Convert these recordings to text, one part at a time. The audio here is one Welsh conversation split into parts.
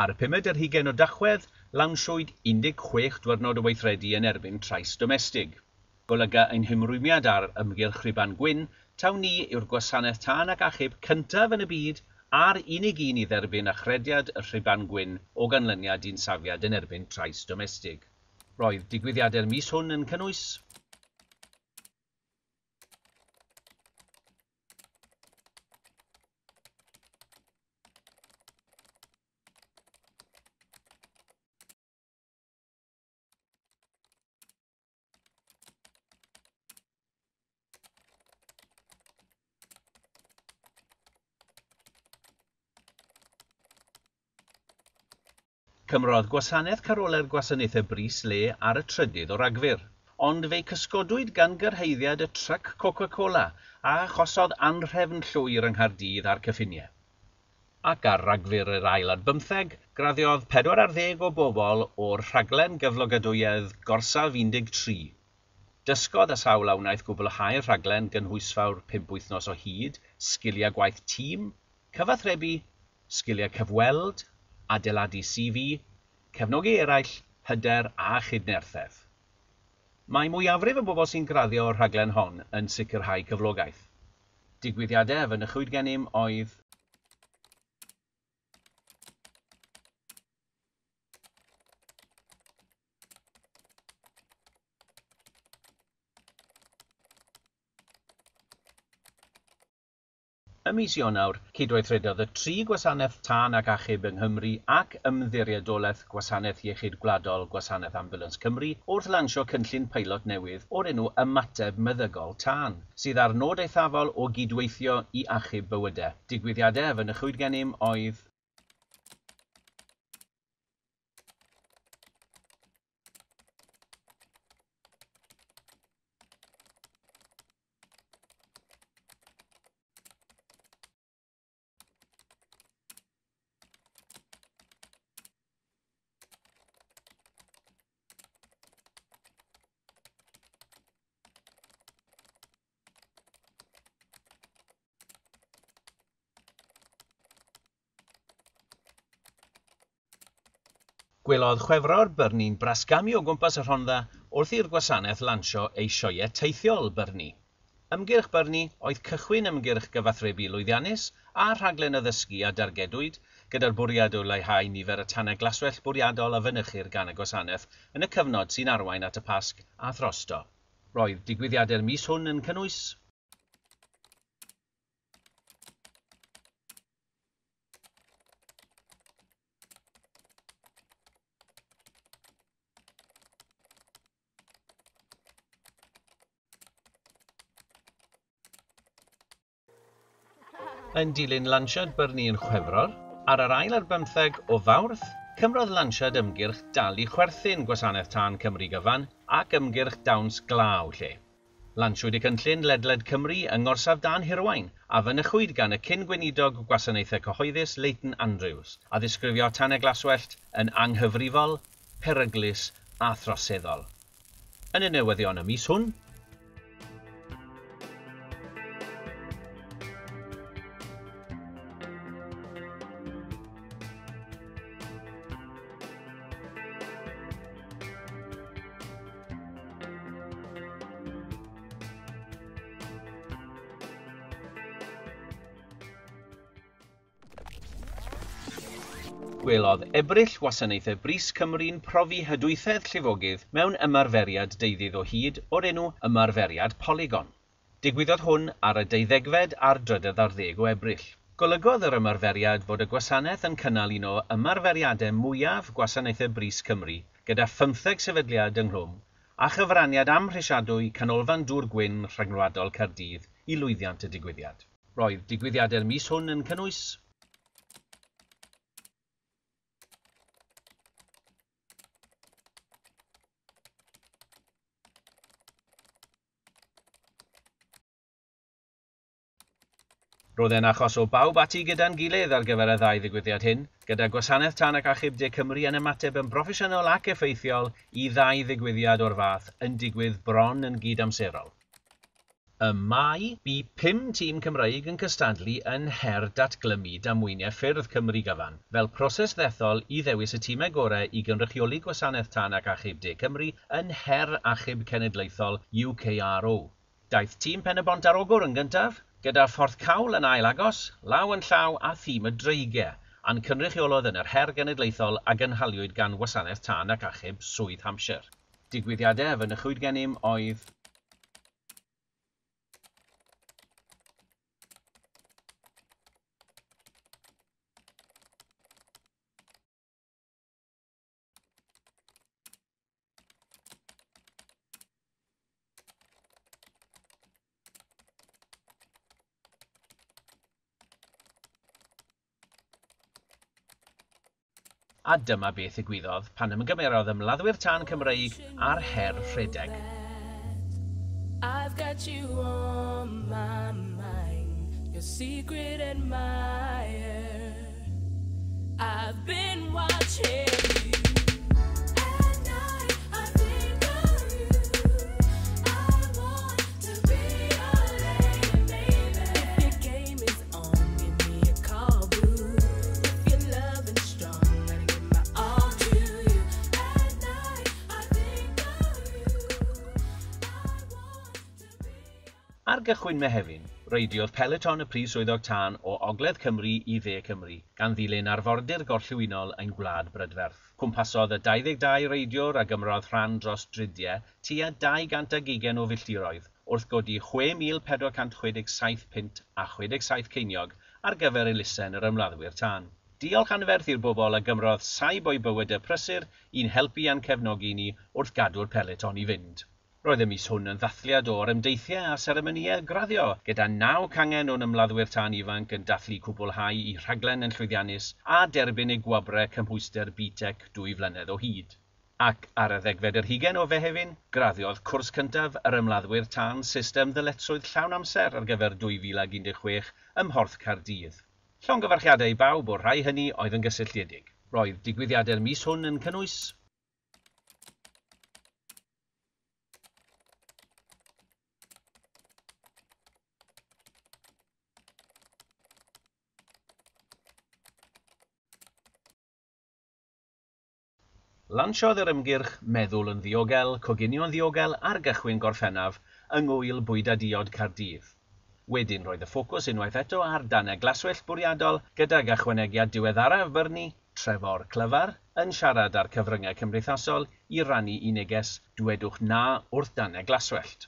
Ar y pumed ar hugain o Dachwedd, lawnsiwyd 16 diwrnod o weithredu yn erbyn trais domestig. Golyga ein hymrwymiad ar ymgyrch Rhuban Gwyn taw ni yw'r gwasanaeth tân ac achub cyntaf yn y byd a'r unig un i dderbyn achrediad y Rhuban Gwyn o ganlyniad i'n safiad yn erbyn trais domestig. Roedd digwyddiadau'r mis hwn yn cynnwys Cymrodd gwasanaeth carolau'r gwasanaethau brys le ar y 3rd o Ragfyr, ond fe'i cysgodwyd gan gyrhaeddiad y tryc Coca-Cola a achosodd anhrefn llwyr yng Nghaerdydd a'r cyffiniau. Ac ar Ragfyr yr 22, graddiodd 40 o bobl o'r rhaglen gyflogadwyedd Gorsaf 13. Dysgodd y sawl a wnaeth gwblhau'r rhaglen gynhwysfawr 5 wythnos o hyd, sgiliau gwaith tîm, cyfathrebu, sgiliau cyfweld, adeiladu CV, cefnogi eraill, hyder a chydnerthedd. Mae mwyafrif y bobl sy'n graddio o'r rhaglen hon yn sicrhau cyflogaeth. Digwyddiadau a fynychwyd gennym oedd Ym mis Ionawr, cydweithredodd y tri gwasanaeth tân ac achub yng Nghymru ac Ymddiriedolaeth Gwasanaeth Iechyd Gwladol Gwasanaeth Ambiwlans Cymru wrth lansio cynllun peilot newydd o'r enw Ymateb Meddygol Tân, sydd â'r nod eithafol o gydweithio i achub bywydau. Digwyddiadau a fynychwyd gennym oedd Gwelodd Chwefror Bernie'n brasgamu o gwmpas y Rhondda wrth i'r gwasanaeth lansio ei sioeau teithiol Bernie. Ymgyrch Bernie oedd cychwyn ymgyrch gyfathrebu lwyddiannus a rhaglen addysgu a dargedwyd, gyda'r bwriad o leihau nifer y tanau glaswellt bwriadol a fynychir gan y gwasanaeth yn y cyfnod sy'n arwain at y Pasg a throsto. Roedd digwyddiadau'r mis hwn yn cynnwys Yn dilyn lansiad Bernie yn Chwefror, ar yr 22 o Fawrth, cymrodd lansiad ymgyrch Dal i Chwerthin Gwasanaeth Tân Cymru Gyfan ac ymgyrch Dawns Glaw lle. Lansiwyd y cynllun ledled Cymru yng Ngorsaf Dân Hirwaun a fynychwyd gan y cyn-gweinidog Gwasanaethau Cyhoeddus Leighton Andrews, a ddisgrifio tanau glaswellt yn anghyfrifol, peryglus a throseddol. Yn y newyddion y mis hwn, Gwelodd Ebrill Wasanaethau Brys Cymru'n profi hydwythedd llifogydd mewn ymarferiad deuddydd o hyd o'r enw Ymarferiad Polygon. Digwyddodd hwn ar y 12fed a'r 13 o Ebrill. Golygodd yr ymarferiad fod y gwasanaeth yn cynnal un o ymarferiadau mwyaf Gwasanaethau Brys Cymru gyda 15 sefydliad ynghlwm a chyfraniad amhrisiadwy Canolfan Dŵr Gwyn Rhyngwladol Caerdydd i lwyddiant y digwyddiad. Roedd digwyddiadau'r mis hwn yn cynnwys Roedd e'n achos o bawb ati gyda'n gilydd ar gyfer y ddau ddigwyddiad hyn, gyda Gwasanaeth Tân ac Achub De Cymru yn ymateb yn broffesiynol ac effeithiol i ddau ddigwyddiad o'r fath yn digwydd bron yn gydamserol. Ym Mai, bu 5 tîm Cymreig yn cystadlu yn Her Datglymu Damweiniau Ffyrdd Cymru gyfan, fel proses ddethol i ddewis y timau gorau i gynrychioli Gwasanaeth Tân ac Achub De Cymru yn Her Achub Cenedlaethol UKRO. Daeth tîm Pen-y-bont ar Ogwr yn gyntaf, gyda Phorthcawl yn ail agos, law yn llaw â thîm y Dreigiau, a'n cynrychiolodd yn yr Her Genedlaethol a gynhaliwyd gan Wasanaeth Tân ac Achub Swydd Hampshire. Digwyddiadau a fynychwyd gennym oedd A dyma beth ddigwyddodd pan ymgymerodd ymladdwyr tân Cymreig â'r her rhedeg. I've got you on my mind, your secret admirer. I've been watching you. At night, I think of you. I want to be your lady, baby. If your game is on, give me a call, boo. If your love is strong, gotta give my all to you. At night, I think of you. I want to be. Ar gychwyn Mehefin, reidiodd peloton y Prif Swyddog Tân o Ogledd Cymru i Dde Cymru, gan ddilyn arfordir gorllewinol ein gwlad brydferth. Cwmpasodd y 22 reidiwr a gymrodd rhan dros dridiau tua 220 o filltiroedd wrth godi 6,467 punt a 67 ceiniog ar gyfer elusen yr ymladdwyr tân. Diolch anferth i'r bobl a gymrodd saib o'u bywydau prysur i'n helpu a'n cefnogi ni wrth gadw'r peloton i fynd. Roedd y mis hwn yn ddathliad o'r ymdeithiau a seremonïau graddio, gyda 9 cangen o'n ymladdwyr tân ifanc yn dathlu cwblhau eu rhaglen yn llwyddiannus a derbyn eu gwobrau cymhwyster BTEC 2 flynedd o hyd. Ac ar y 20 o Fehefin, graddiodd cwrs cyntaf yr ymladdwyr tân system ddyletswydd llawn amser ar gyfer 2016 ym Mhorth Caerdydd. Llongyfarchiadau i bawb o'r rhai hynny oedd yn gysylltiedig. Roedd digwyddiadau'r mis hwn yn cynnwys Lansiodd yr ymgyrch Meddwl yn Ddiogel, Coginio'n Ddiogel ar gychwyn Gorffennaf yng Ngŵyl Bwyd a Diod Caerdydd. Wedyn roedd y ffocws unwaith eto ar danau glaswellt bwriadol gydag ychwanegiad diweddaraf Bernie, Trefor Clyfar, yn siarad â'r cyfryngau cymdeithasol i rannu ei neges "Dwedwch na wrth danau glaswellt".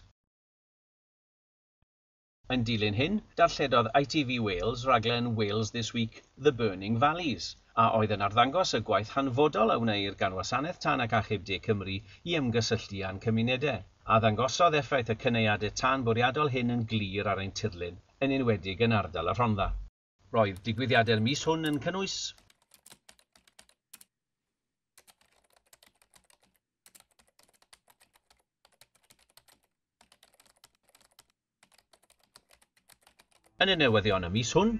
Yn dilyn hyn, darlledodd ITV Wales raglen Wales This Week The Burning Valleys, a oedd yn arddangos y gwaith hanfodol a wneir gan Wasanaeth Tân ac Achub De Cymru i ymgysylltu â'n cymunedau, a ddangosodd effaith y cynaeadau tân bwriadol hyn yn glir ar ein tirlun, yn enwedig yn ardal y Rhondda. Roedd digwyddiadau'r mis hwn yn cynnwys Yn y newyddion y mis hwn,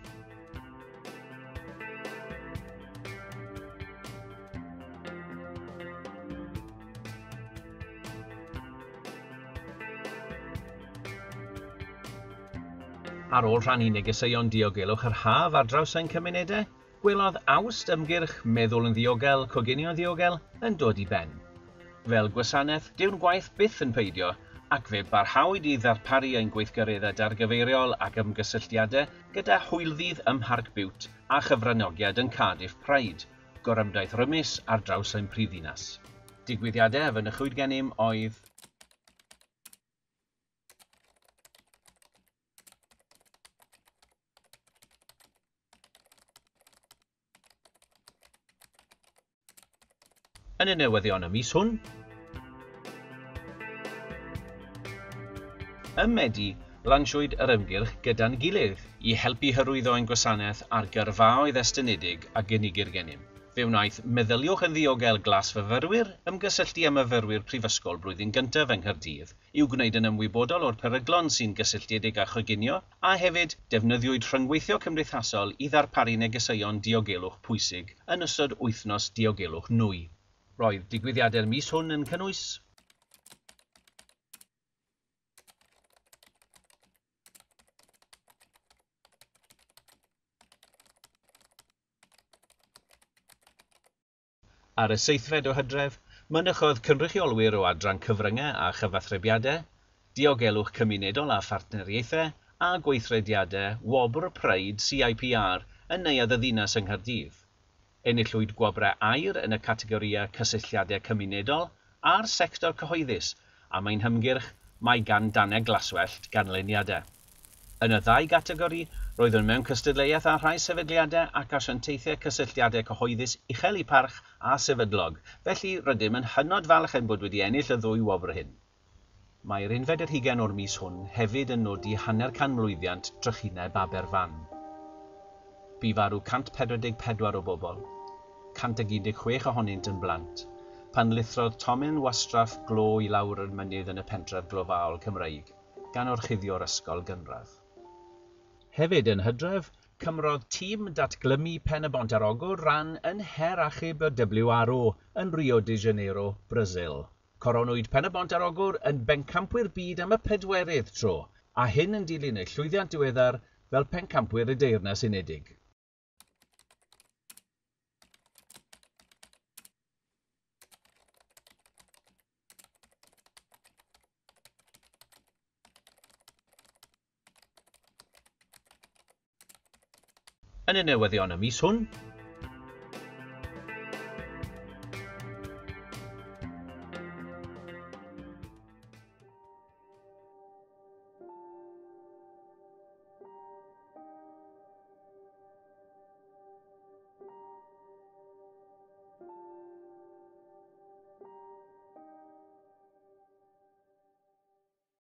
ar ôl rhannu negeseuon diogelwch yr haf ar draws ein cymunedau, gwelodd Awst ymgyrch Meddwl yn Ddiogel, Coginio'n Ddiogel yn dod i ben. Fel gwasanaeth, dyw'n gwaith byth yn peidio, ac fe barhawyd i ddarparu ein gweithgareddau dargyfeiriol ac ymgysylltiadau gyda hwylddydd ym Mharc Biwt a chyfranogiad yn Cardiff Pride, gorymdaith rymus ar draws ein prifddinas. Digwyddiadau a fynychwyd gennym oedd Yn y newyddion y mis hwn, Ym Medi, lansiwyd yr ymgyrch Gyda'n Gilydd i helpu hyrwyddo ein gwasanaeth ar gyrfaoedd estynedig a gynigir gennym. Fe wnaeth Meddyliwch yn Ddiogel Glasfyfyrwyr ymgysylltu â myfyrwyr prifysgol blwyddyn gyntaf yng Nghaerdydd i'w gwneud yn ymwybodol o'r peryglon sy'n gysylltiedig â choginio, a hefyd defnyddiwyd rhyngweithio cymdeithasol i ddarparu negeseuon diogelwch pwysig yn ystod wythnos diogelwch nwy. Roedd digwyddiadau'r mis hwn yn cynnwys Ar y 7fed o Hydref, mynychodd cynrychiolwyr o adran cyfryngau a chyfathrebiadau, diogelwch cymunedol a phartneriaethau, a gweithrediadau Wobr Pride CIPR yn Neuadd y Ddinas yng Nghaerdydd. Enillwyd gwobrau aur yn y categorïau cysylltiadau cymunedol a'r sector cyhoeddus, a mae'n hymgyrch Mae gan Danau Glaswellt ganlyniadau. Yn y ddau gategori, roeddwn mewn cystadleuaeth â rhai sefydliadau ac asiantaethau cysylltiadau cyhoeddus uchel eu parch a sefydlog, felly rydym yn hynod falch ein bod wedi ennill y ddwy wobr hyn. Mae'r 21 o'r mis hwn hefyd yn nodi hanner canmlwyddiant trychineb Aberfan. Bu farw 144 o bobl, 116 ohonynt yn blant, pan lithrodd tomen wastraff glo i lawr yr mynydd yn y pentref glofaol Cymreig, gan orchuddio'r ysgol gynradd. Hefyd yn Hydref, cymrodd tîm datglymu Pen-y-bont ar Ogwr ran yn Her Achub y WRO yn Rio de Janeiro, Brasil. Coronwyd Pen-y-bont ar Ogwr yn bencampwyr byd am y pedwerydd tro, a hyn yn dilyn eu llwyddiant diweddar fel pencampwyr y Deyrnas Unedig. Yn y newyddion y mis hwn,